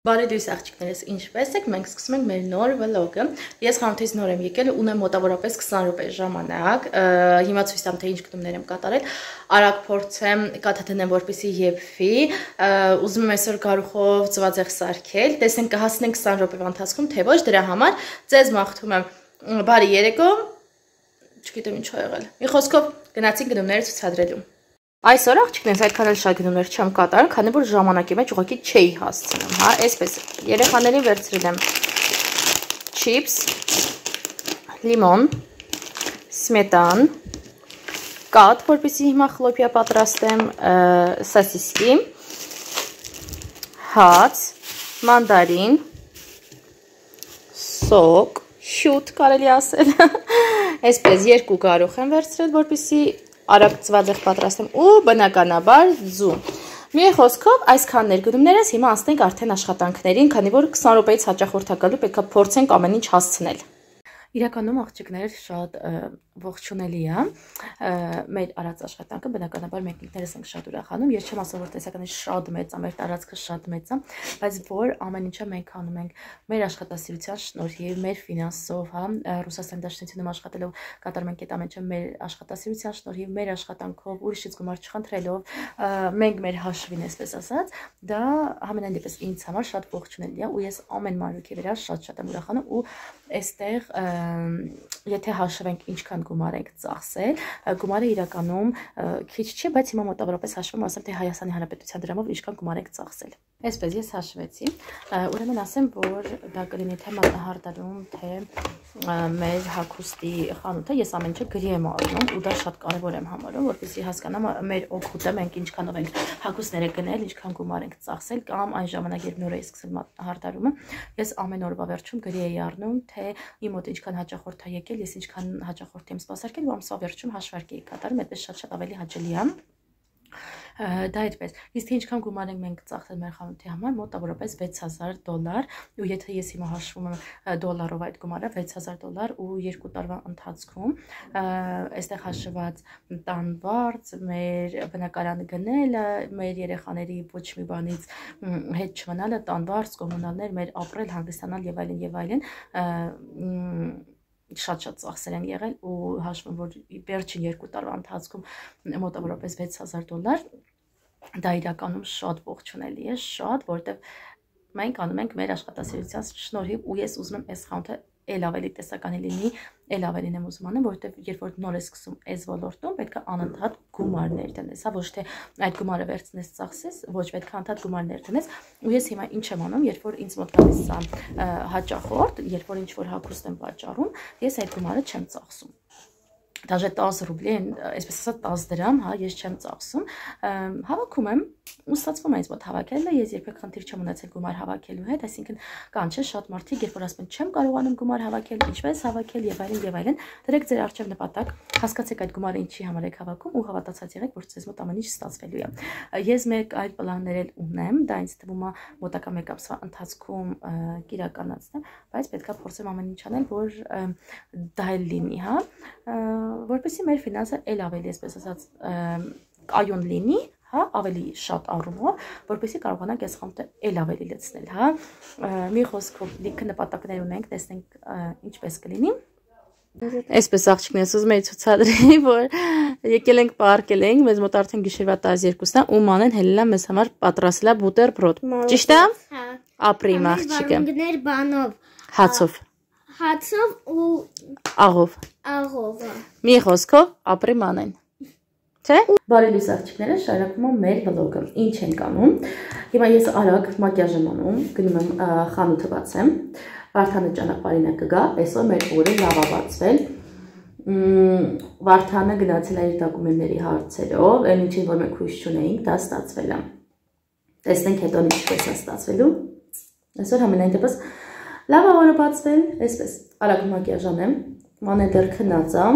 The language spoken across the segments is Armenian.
Բարի դույս աղջիկներս, ինչպես եք, մենք սկսում ենք մեր նոր վլոգը։ Ես խանութից նոր եմ եկել, ունեմ մոտավորապես 20 րոպե ժամանակ։ Հիմա ցույց տամ, թե ինչ գնումներ եմ կատարել։ Արագ փորձեմ կաթը դնեմ, որպեսզի եփվի։ Ուզում եմ այսօր գարուխով ծվածեղ սարքել։ Տեսնենք կհասնենք 20 րոպեվա ընթացքում, թե ոչ, դրա համար ձեզ մաղթում եմ բարի երեկո։ Չգիտեմ ինչ ա եղել։ Մի խոսքով գնացինք գնումները ցուցադրելու։ Այսօր աղջիկներս այդքան էլ շատ գնումներ չեմ կատարել, քանի որ ժամանակի մեջ ուղղակի չէի հասցնում, հա, այսպես երեխաներին վերցրել եմ չիփս, լիմոն, սմետան, կաթ, որպեսզի հիմա խլոպյա պատրաստեմ, սոսիսկի, հաց, մանդարին, սոկ, շուտ կարելի ասել, այսպես երկու գարուխ եմ վերցրել, որպեսզի արագ ծվածեղ պատրաստեմ ու բնականաբար ձու։ Մի խոսքով այսքան ներգնումներս հիմա անցնենք արդեն աշխատանքներին, քանի որ 20 րոպեից հաճախորդակալու պետք է փորձենք ամեն ինչ հասցնել։ Իրականում աղջիկներ շատ ողջունելի է մեր արած աշխատանքը, բնականաբար մենք ինքներս ենք շատ ուրախանում։ Ես չեմ ասում, որ տեսականից շատ մեծ է, մեր տարածքը շատ մեծ է, բայց որ ամեն ինչը մենք անում ենք մեր աշխատասիրության շնորհիվ, մեր ֆինանսով, հա, Ռուսաստանի Դաշնությունում աշխատելով կատարում ենք այդ ամեն ինչը մեր աշխատասիրության շնորհիվ, մեր աշխատանքով, ուրիշից գումար չխնդրելով, մենք մեր հաշվին, այսպես ասած, դա ամենայն դեպս ինձ համար շատ ողջունելի է ու ես ամեն մանրուքի վրա շատ եմ ուրախանում ու այստեղ եթե հաշվենք ինչքան գումար ենք ծախսել, գումարը իրականում քիչ չէ, բայց հիմա մոտավորապես հաշվում ասեմ, թե Հայաստանի Հանրապետության դրամով ինչքան գումար ենք ծախսել։ Այսպես ես հաշվեցի, ուրեմն ասեմ, որ դա կլինի թե մատնահարդարում, թե մեր հագուստի խանութը, ես ամեն ինչը գրի եմ առնում ու դա շատ կարևոր եմ համարում, որպեսզի հասկանամ մեր օգուտը, մենք ինչքանով ենք հագուստները գնել, ինչքան գումար ենք ծախսել, կամ այն ժամանակ, երբ նոր էի սկսել մատնահարդարումը, ես ամեն օրվա վերջում գրի էի առնում, թե իմ մոտ ինչքան հաճախորդ է եկել, ես ինչքան հաճախորդ եմ սպասարկել ու ամսվա վերջում հաշվարկ էի կատարում, այդպես շատ ավելի հաճելի է։ Դա այդպես, իսկ թե ինչքան գումար ենք մենք ծախսել մեր խանութի համար, մոտավորապես $6000 ու եթե ես հիմա հաշվում եմ դոլարով այդ գումարը $6000 ու 2 տարվա ընթացքում, այստեղ հաշված տան վարձ, մեր բնակարանը գնելը, մեր երեխաների ոչ մի բանից հետ չմնալը, տան վարձ, կոմունալներ, մեր ապրել, հանգստանալ եւ այլն եւ այլն, շատ ծախսեր են եղել ու հաշվում որ վերջին 2 տարվա ընթացքում մոտավորապես $6000 դա իրականում շատ ողջունելի է, շատ, որովհետև մենք անում ենք մեր աշխատասիրության շնորհիվ ու ես ուզում եմ այս խանութը էլ ավելի տեսականի լինի, էլ ավելին եմ ուզում անեմ, որովհետև երբ որ նոր ես սկսում այս ոլորտում, պետք է անընդհատ գումարներ դնես, հա, ոչ թե այդ գումարը վերցնես ծախսես, ոչ պետք է անընդհատ գումարներ դնես, ու ես հիմա ինչ եմ անում, երբ որ ինձ մոտ գալիս է հաճախորդ, երբ որ ինչ որ հագուստ եմ պատճառում, ես այդ գումարը չեմ ծախսում։ Դաժե 10 ռուբլի, այսպես ասած 10 դրամ, հա, ես չեմ ծախսում, հավաքում եմ ու ստացվում է ինձ մոտ հավաքելը, ես երբեք խնդիր չեմ ունեցել գումար հավաքելու հետ, այսինքն կան չէ շատ մարդիկ, երբ որ ասում են չեմ կարողանում գումար հավաքել, ինչպես հավաքել եւ այլն, դրեք ձեր առջև նպատակ, հասկացեք այդ գումարը ինչի համար եք հավաքում ու հավատացած եղեք, որ ձեզ մոտ ամեն ինչ ստացվելու է։ Ես մեկ այլ պլաններ էլ ունեմ, դա ինձ թվում է մոտակա 1 ամսվա ընթացքում կիրականացնեմ, բայց պետքա փորձեմ ամեն ինչ անել, որ դա էլ լինի, հա, որպեսզի մեր ֆինանսը էլ ավելի, այսպես ասած, կայուն լինի, հա, ավելի շատ առումով, որպեսզի կարողանանք այս խանութը էլ ավելի լցնել, հա, մի խոսքով լիքը նպատակներ ունենք, տեսնենք ինչպես կլինի։ Այսպես աղջիկներս ուզում էի ցուցադրեի, որ եկել ենք պարկել ենք, մեզ մոտ արդեն գիշերվա 12-ն է ու մանեն հելելա մեզ համար պատրաստելա բուտերբրոդ։ Ճիշտ է։ Հա։ Ապրի աղջիկը։ Բանով։ Հացով։ Հացով ու աղով։ Աղով։ Մի խոսքով ապրի մանեն։ Չէ։ Բարի լույս աղջիկները, շարունակում եմ մեր վլոգը։ Ինչ ենք անում։ Հիմա ես արագ մակիաժ եմ անում, գնում եմ խանութը բացեմ։ Վարդանը ճանապարհին է կգա, այսօր մեր օրը լավ է բացվել։ Վարդանը գնացել է իր դոկումենտների հարցերով, այն ինչին որ մենք հույս չունեինք, դա ստացվել է։ Տեսնենք հետո ինչպես է ստացվելու։ Այսօր ամենայն դեպս լավ է օրը բացվել, այսպես արագ մակիաժ անեմ, մանեն դեռ քնած է,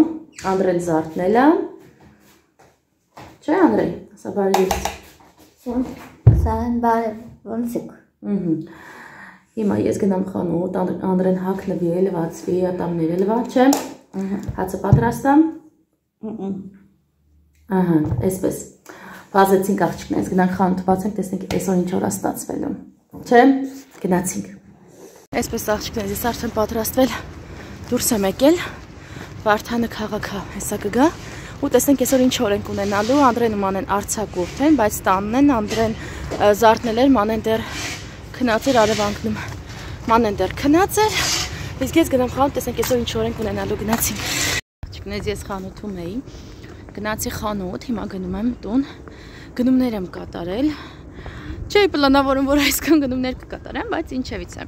Անդրեն զարթնել է։ Չէ, Անդրեյ, ասա բարի լույս։ Սան բարի, ոնց եք։ Հիմա ես գնամ խանութ, Անդրեն հագնվի, լվացվի, ատամները լվաչեմ, հացը պատրաստամ։ Այսպես, բազեցինք աղջիկներս, գնանք խանութ բացենք, տեսնենք այսօր ինչ օր է ստացվելու։ Չէ, գնացինք։ Այսպես աղջիկներ, ես արդեն պատրաստվել դուրս եմ եկել, Վարդանը քաղաքը հեսա կգա, ու տեսնենք այսօր ինչ օր ենք ունենալու, Անդրեն ու Մանեն արձակուրդ են, բայց տանն են, Անդրեն զարթնել էր, Մանեն դեռ քնած էր արևանկնում, Մանեն դեռ քնած էր, իսկ ես գնամ խանութ, տեսնենք այսօր ինչ օր ենք ունենալու, գնացինք։ Աղջիկներ, ես խանութում էի, գնացի խանութ, հիմա գնում եմ տուն, գնումներ եմ կատարել, չէի պլանավորում, որ այսքան գնումներ կկատարեմ, բայց ինչևից է։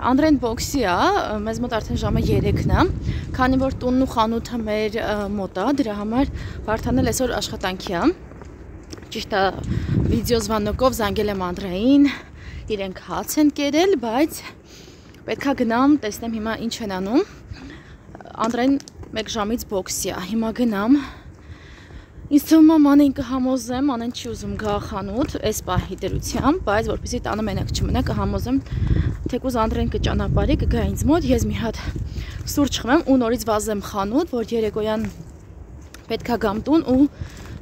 Անդրեն բոքսի է, մեզ մոտ արդեն ժամը 3-ն է, քանի որ տունն ու խանութը մեր մոտ է, դրա համար Վարդանն էլ այսօր աշխատանքի է։ Ճիշտ է, վիդեոզվանոկով զանգել եմ Անդրեին, իրենք հաց են կերել, բայց պետք է գնամ, տեսնեմ հիմա ինչ են անում։ Անդրեն 1 ժամից բոքսի է, հիմա գնամ։ Ինձ թվում է Մանեն կհամոզեմ, Մանեն չի ուզում գա խանութ, այս պահի դրությամբ, բայց որպեսզի տանը մենակ չմնա, կհամոզեմ, թեկուզ Անդրեն կճանապարհի, կգա ինձ մոտ, ես մի հատ սուրճ խմեմ ու նորից վազեմ խանութ, որ երեկոյան պետք է գամ տուն ու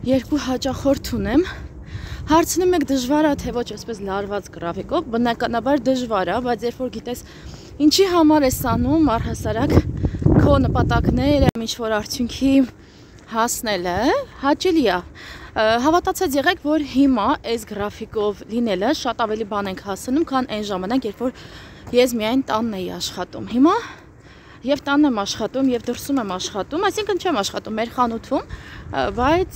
2 հաճախորդ ունեմ։ Հարցնում եք դժվար է, թե ոչ այսպես լարված գրաֆիկով, բնականաբար դժվար է, բայց երբ որ գիտես ինչի համար ես անում, առհասարակ քո նպատակները, ինչ որ արդյունքի հասնելը հաճելի է։ Հավատացած եղեք, որ հիմա այս գրաֆիկով լինելը շատ ավելի բան ենք հասնում, քան այն ժամանակ, երբ որ ես միայն տանն էի աշխատում։ Հիմա եւ տանն եմ աշխատում, եւ դրսում եմ աշխատում, այսինքն չեմ աշխատում մեր խանութում, բայց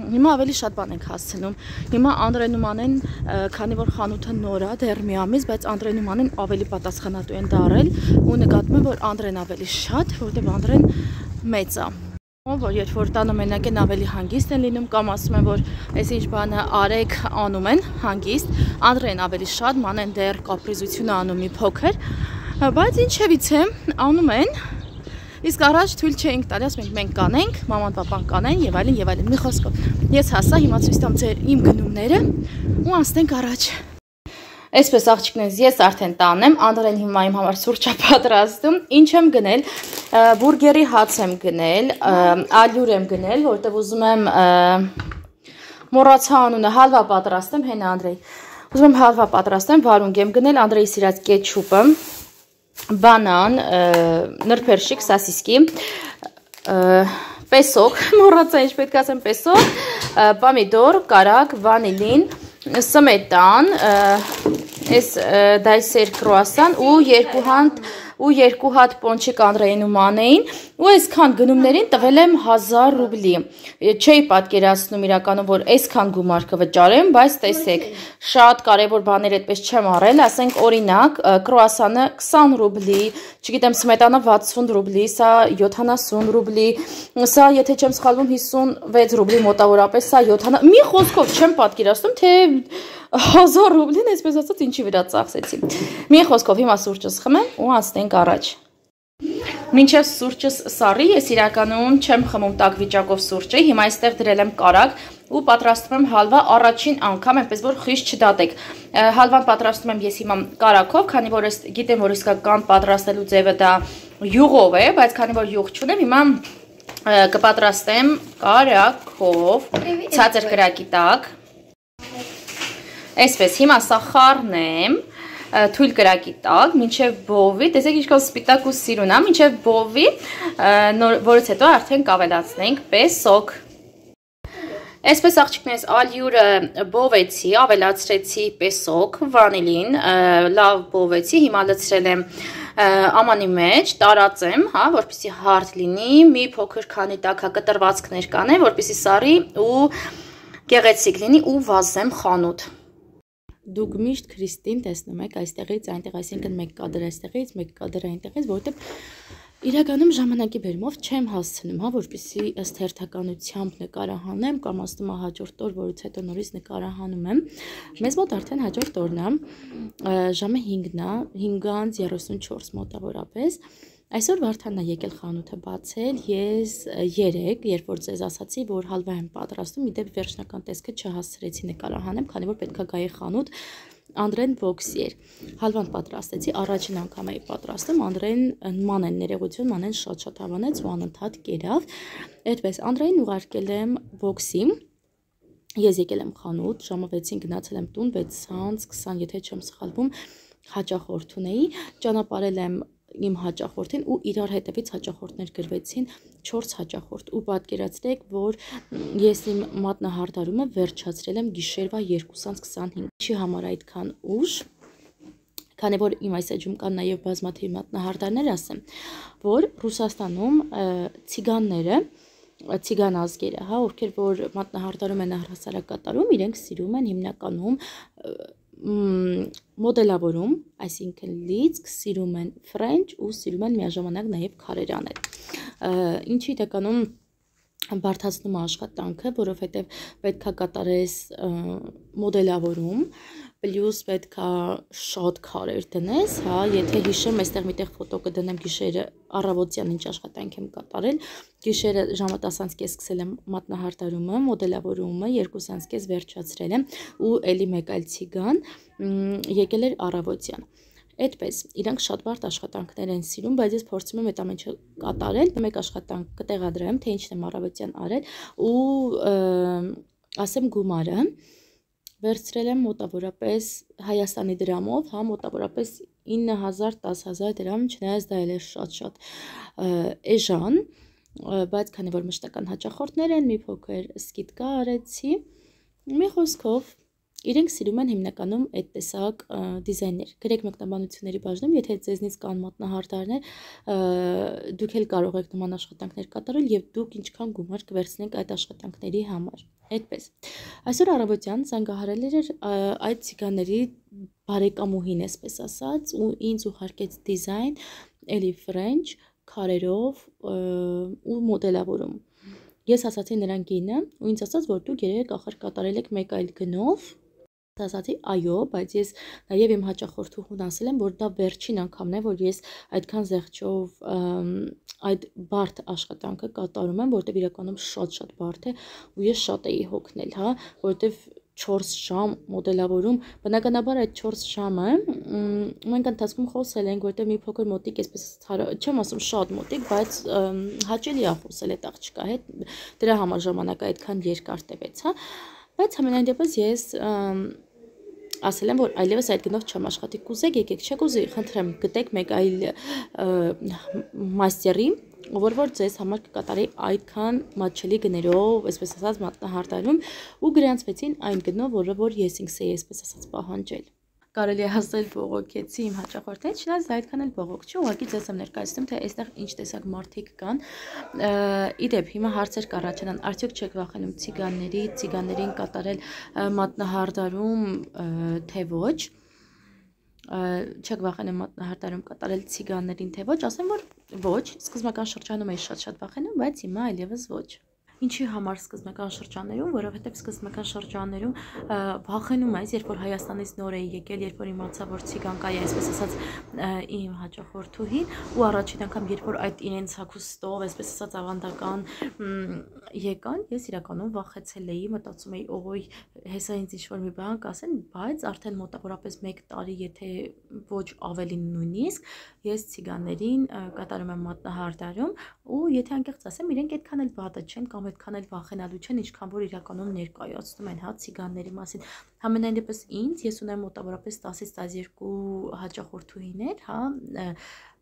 հիմա ավելի շատ բան ենք հասնում։ Հիմա Անդրեն ու Մանեն, քանի որ խանութը նոր է, դեռ մի ամիս, բայց Անդրեն ու Մանեն ավելի պատասխանատու են դառել ու նկատում եմ, որ Անդրեն ավելի շատ, որտեղ Անդրեն մեծ է։ Որ երբ որ տանը մենակ են ավելի հանգիստ են լինում կամ ասում են, որ այս ինչ բանը արեք անում են հանգիստ, Անդրեն ավելի շատ, Մանեն դեռ կապրիզություն անում մի փոքր, բայց ինչևից է անում են, իսկ առաջ թույլ չէինք տալի, ասում ենք մենք կանենք, մաման պապան կանեն եւ այլն, մի խոսքով։ Ես հասա, հիմա ցույց տամ ձեր իմ գնումները ու անցնենք առաջ։ Այսպես աղջիկներ, ես արդեն տանն եմ, Անդրեն հիմա իմ համար սուրճ է պատրաստում, ինչ եմ գնել, բուրգերի հաց եմ գնել, ալյուր եմ գնել, որտեղ ուզում եմ մոռացա անունը, հալվա պատրաստեմ, հենա Անդրեի, ուզում եմ հալվա պատրաստեմ, վարունգ եմ գնել, Անդրեի սիրած կետչուպը, բանան, նրբերշիկ, սասիսկի, պեսոկ, մոռացա ինչ պետք ասեմ, պեսոկ, պամիդոր, կարագ, վանիլին, սմետան, այս դայսեր կրուասան ու 2 հատ պոնչիկ Անդրեին ու Մանեին ու այսքան գնումներին տվել եմ 1000 ռուբլի։ Չէի պատկերացնում իրականում, որ այսքան գումար կվճարեմ, բայց տեսեք, շատ կարևոր բաներ այդպես չեմ առել, ասենք օրինակ, կրուասանը 20 ռուբլի, չգիտեմ, սմետանը 60 ռուբլի, սա 70 ռուբլի, սա եթե չեմ սխալվում 56 ռուբլի մոտավորապես, սա 70, մի խոսքով չեմ պատկերացնում, թե 1000 ռուբլին այսպես ասած ինչի վրա ծախսեցի։ Մի խոսքով հիմա սուրճս խմեմ ու անցնենք առաջ։ Մինչև սուրճս սառի, ես իրականում չեմ խմում տաք վիճակով սուրճը, հիմա այստեղ դրել եմ կարագ ու պատրաստում եմ հալվա առաջին անգամ, այնպես որ խիստ չդատեք։ Հալվան պատրաստում եմ ես հիմա կարագով, քանի որ ես գիտեմ, որ իսկական պատրաստելու ձևը դա յուղով է, բայց քանի որ յուղ չունեմ, հիմա կպատրաստեմ կարագով, ցածր կրակի տակ։ Այսպես, հիմա սա խառնեմ, թույլ կրակի տակ, մինչև բովի, տեսեք ինչքան սպիտակ ու սիրուն է, մինչև բովի, որից հետո արդեն կավելացնենք պեսոկ։ Այսպես աղջիկներս ալյուրը բովեցի, ավելացրեցի պեսոկ, վանիլին, լավ բովեցի, հիմա լցրել եմ ամանի մեջ, տարածեմ, որպեսզի հարթ լինի, մի փոքր քանի տաքակտրվածքներ կանեմ, որպեսզի սառի ու գեղեցիկ լինի ու վազեմ խանութ։ Դուք միշտ Քրիստին տեսնում եք այստեղից այնտեղ, այսինքն մեկ կադր այստեղից, մեկ կադր այնտեղից, որտեղ իրականում ժամանակի բերումով չեմ հասցնում, որպեսզի ըստ հերթականությամբ նկարահանեմ կամ ասում եմ հաջորդ օր, որից հետո նորից նկարահանում եմ։ Մեզ մոտ արդեն հաջորդ օրն է, ժամը 5-ն է, 5:34 մոտավորապես։ Այսօր Վարդանն է եկել խանութը բացել, ես 3, երբ որ ձեզ ասացի, որ հալվա եմ պատրաստում, իդեպ վերջնական տեսքը չհասցրեցի նկարահանեմ, քանի որ պետք է գայի խանութ, Անդրեն բոքսի էր, հալվան պատրաստեցի, առաջին անգամ էի պատրաստում, Անդրեն Մանեն ներողություն, Մանեն շատ հավանեց ու անընդհատ կերավ, այդպես Անդրեին ուղարկել եմ բոքսի, Ես եկել եմ խանութ, ժամը 6-ին գնացել եմ տուն, 6:20, եթե չեմ սխալվում, հաճախորդ ունեի, ճանապարհել եմ իմ հաճախորդին ու իրար հետևից հաճախորդներ գրվեցին 4 հաճախորդ ու պատկերացրեք, որ ես իմ մատնահարդարումը վերջացրել եմ գիշերվա 2:25, չի համար այդքան ուշ, քանի որ իմ այս էջում կան նաև բազմաթիվ մատնահարդարներ, ասեմ, որ Ռուսաստանում ցիգանները ցիգան ազգերը, հա, ովքեր որ մատնահարդարում են առհասարակ կատարում, իրենք սիրում են հիմնականում մոդելավորում, այսինքն լիցք, սիրում են ֆրենչ ու սիրում են միաժամանակ նաև քարեր անել։ Ինչի իրականում բարդացնում է աշխատանքը, որովհետև պետք է կատարես մոդելավորում, պլյուս պետք է շատ քարեր դնես, հա, եթե հիշեմ, այստեղ միտեղ ֆոտո կդնեմ գիշերը առավոտյան ինչ աշխատանք եմ կատարել, գիշերը ժամը 10:30 սկսել եմ մատնահարդարումը, մոդելավորումը 2:30 վերջացրել եմ ու էլի մեկ այլ ցիգան եկել էր առավոտյան։ Այդպես, իրանք շատ բարդ աշխատանքներ են սիրում, բայց ես փորձում եմ այդ ամենը կատարել, մեկ աշխատանք կտեղադրեմ, թե ինչն եմ առավոտյան արել ու ասեմ գումարը վերցրել եմ մոտավորապես Հայաստանի դրամով, հա, մոտավորապես 9,000-10,000 դրամ, չնայած դա էլ է շատ էժան, բայց քանի որ մշտական հաճախորդներ են, մի փոքր սկիզբը արեցի, մի խոսքով իրենք սիրում են հիմնականում այդ տեսակ դիզայներ։ Գրեք մեկնաբանությունների բաժնում, եթե ձեզնից կան մատնահարդարներ, դուք էլ կարող եք նման աշխատանքներ կատարել եւ դուք ինչքան գումար կվերցնեք այդ աշխատանքների համար։ Այդպես։ Այսօր առավոտյան զանգահարել էր այդ ցիգանների բարեկամուհին, այսպես ասած, ու ինձ ուղարկեց դիզայն, էլի ֆրենչ, քարերով ու մոդելավորում։ Ես ասացի նրան գինը ու ինձ ասաց, որ դուք երեք ախր կատարել եք մեկ այլ գնով։ Ասացի այո, բայց ես նաև իմ հաճախորդուհուն ասել եմ, որ դա վերջին անգամն է, որ ես այդքան զեղչով այդ բարդ աշխատանքը կատարում եմ, որտեղ իրականում շատ բարդ է ու ես շատ էի հոգնել, հա, որտեղ 4 ժամ մոդելավորում, բնականաբար այդ 4 ժամը մենք ընթացքում խոսել ենք, որտեղ մի փոքր մոտիկ, այսպես չեմ ասում շատ մոտիկ, բայց հաճելի է խոսել այդ աղջկա հետ, դրա համար ժամանակը այդքան երկար տևեց, հա, բայց համենայն դեպս ես ասել եմ, որ այլևս այդ գնով չեմ աշխատի, կուզեք եկեք, չեք ուզի, խնդրեմ, գտեք մեկ այլ մաստերի, որ ձեզ համար կկատարի այդքան մատչելի գներով, այսպես ասած մատնահարդարում ու գրանցվեցին այն գնով, որը որ ես ինքս էի, այսպես ասած, պահանջել։ Կարելի է ասել բողոքեցի իմ հաճախորդներին, չնայած դա այդքան էլ բողոք չի, ուղղակի ձեզ եմ ներկայացնում, թե այստեղ ինչ տեսակ մարդիկ կան։ Իդեպ հիմա հարցեր կառաջանան, արդյոք չեք վախենում ցիգաններին կատարել մատնահարդարում, թե ոչ։ Չեք վախենում մատնահարդարում կատարել ցիգաններին, թե ոչ, ասեմ, որ ոչ, սկզբնական շրջանում էի շատ վախենում, բայց հիմա այլևս ոչ։ Ինչի համար սկզբնական շրջաններում, որովհետև սկզբնական շրջաններում վախենում ես, երբ որ Հայաստանից նոր էի եկել, երբ որ իմացա, որ ցիգան կա, այսպես ասած, իմ հաճախորդուհին, ու առաջին անգամ, երբ որ այդ իրենց հագուստով, այսպես ասած, ավանդական եկան, ես իրականում վախեցել էի, մտածում էի, օй, հեսա ինձ ինչ-որ մի բան կասեն, բայց արդեն մոտավորապես 1 տարի, եթե ոչ ավելին նույնիսկ, ես ցիգաններին կատարում եմ մատնահարդարում, ու եթե անկեղծ ասեմ, իրենք այդքան էլ վատը չեն կամ այդքան էլ վախենալու չեն, ինչքան որ իրականում ներկայացնում են, հա, ցիգանների մասին։ Համենայն դեպս ինձ, ես ունեմ մոտավորապես 10-ից 12 հաճախորդուհիներ, հա,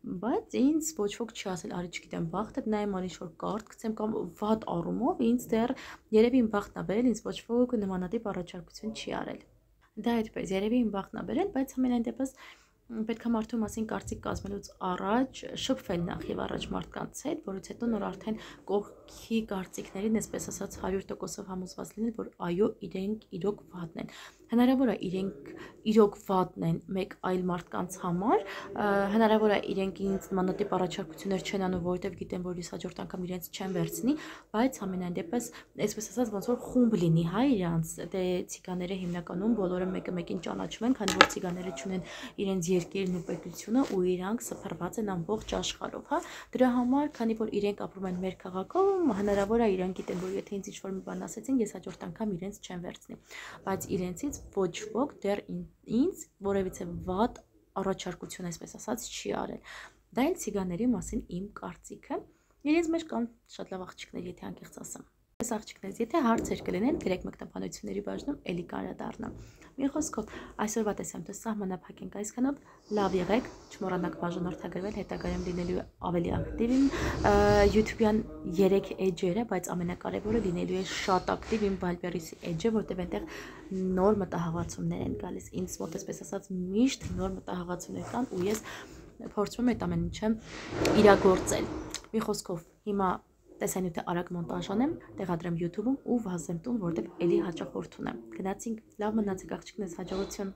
բայց ինձ ոչ ոք չի ասել, արի չգիտեմ, բախտդ նայեմ, արի ինչ-որ կարդ գցեմ կամ վատ առումով, ինձ դեռ երևի իմ բախտն է բերել, ինձ ոչ ոք նմանատիպ առաջարկություն չի արել։ Դա այդպես, երևի իմ բախտն է բերել, բայց համենայն դեպս պետք է մարդու մասին կարծիք կազմելուց առաջ շփվել նախ եւ առաջ մարդկանց հետ, որից հետո նոր արդեն կողքի կարծիքներին, այսպես ասած 100%-ով համոզված լինել, որ այո, իրենք իրոք վատն են։ Հնարավոր է իրենք իրոք վատն են մեկ այլ մարդկանց համար, հնարավոր է իրենք ինձ նմանատիպ առաջարկություններ չեն անում, որովհետև գիտեն, որ ես հաջորդ անգամ իրենց չեմ վերցնի, բայց ամենայն դեպս, այսպես ասած, ոնց որ խումբ լինի, հա, իրանց, դե ցիգաները հիմնականում բոլորը մեկը մեկին ճանաչում են, քանի որ ցիգաները չունեն իրենց երկիրն ու պետությունը ու իրանք սփռված են ամբողջ աշխարհով, հա, դրա համար, քանի որ իրենք ապրում են մեր քաղաքում, հնարավոր է իրանք գիտեն, որ եթե ինձ ինչ-որ մի բան ասեցին, ես հաջորդ անգամ իրենց չեմ վերցնի, բայց իրենցից ոչ ոք դեռ ինձ որևիցե վատ առաջարկություն, այսպես ասած, չի արել։ Դա էլ ցիգաների մասին իմ կարծիքը։ Իրենց մեջ կան շատ լավ աղջիկներ, եթե անկեղծ ասեմ։ Այս աղջիկներից, եթե հարցեր կլինեն, գրեք մեկնաբանությունների բաժնում, էլի կարադառնամ։ Մի խոսքով, այսօրվա տեսանյութը սահմանափակ ենք այսքանով, լավ եղեք, չմոռանաք բաժանորդագրվել, հետագայում լինելու է ավելի ակտիվ իմ YouTube-յան 3 էջերը, բայց ամենակարևորը լինելու է շատ ակտիվ իմ Viber-ի էջը, որտեղ այնտեղ նոր մտահղացումներ են գալիս։ Ինձ մոտ այսպես ասած միշտ նոր մտահղացումներ կան ու ես փորձում եմ այդ ամեն ինչը իրագործել։ Մի խոսքով, հիմա տեսանյութը արագ մոնտաժանեմ, տեղադրեմ YouTube-ում ու վազեմ տուն, որտեղ էլի հաճախորդ ունեմ։ Գնացինք, լավ մնացեք աղջիկներս, հաջողություն։